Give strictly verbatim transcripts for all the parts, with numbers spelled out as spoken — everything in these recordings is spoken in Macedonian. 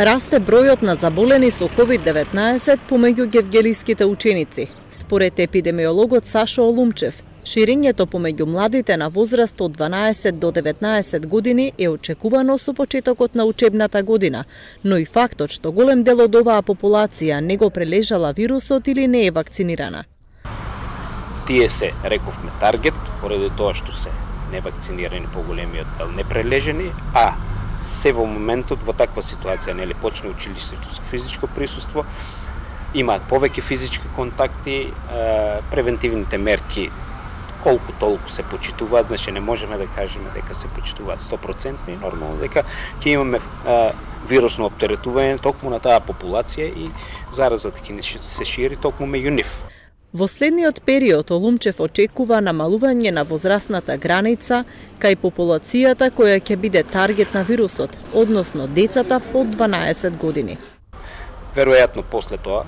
Расте бројот на заболени со ковид деветнаесет помеѓу гевгелиските ученици. Според епидемиологот Сашо Олумчев, ширењето помеѓу младите на возраст од дванаесет до деветнаесет години е очекувано со почетокот на учебната година, но и фактот што голем дел од оваа популација не го прележала вирусот или не е вакцинирана. Тие се, рековме, таргет, поради тоа што се невакцинирани, поголемиот дел непрележени, а се во моментот во таква ситуација, нели, почне училиштето со физичко присуство, имаат повеќе физички контакти, превентивните мерки колку толку се почитуваат, значи не можеме да кажеме дека се почитуваат сто проценти, нормално дека ќе имаме а, вирусно оптеретување токму на таа популација и заразата ќе се шири токму меѓу нив. Во следниот период Олумчев очекува намалување на возрастната граница кај популацијата која ќе биде таргет на вирусот, односно децата под дванаесет години. Веројатно после тоа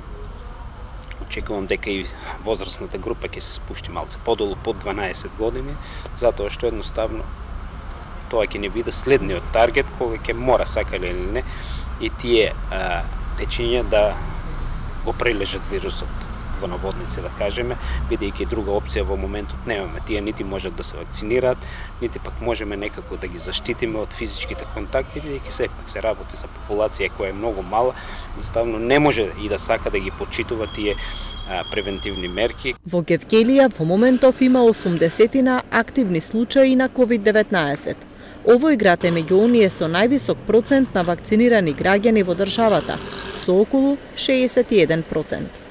очекувам дека и возрастната група ќе се спушти малце подолу под дванаесет години, затоа што едноставно тоа ќе не биде следниот таргет кога ќе мора, сакале или не, и тие а, дечиња да го прележат вирусот во наводници, да кажеме, бидејќи друга опција во моментот немаме. Тие нити можат да се вакцинираат, нити пак можеме некако да ги заштитиме од физичките контакти, бидејќи сепак се работи за популација која е многу мала, едноставно не може и да сака да ги почитува тие а, превентивни мерки. Во Гевгелија во моментов има осумдесетина активни случаи на ковид деветнаесет. Овој град е меѓу оние со највисок процент на вакцинирани граѓани во државата, со околу шеесет и еден процент.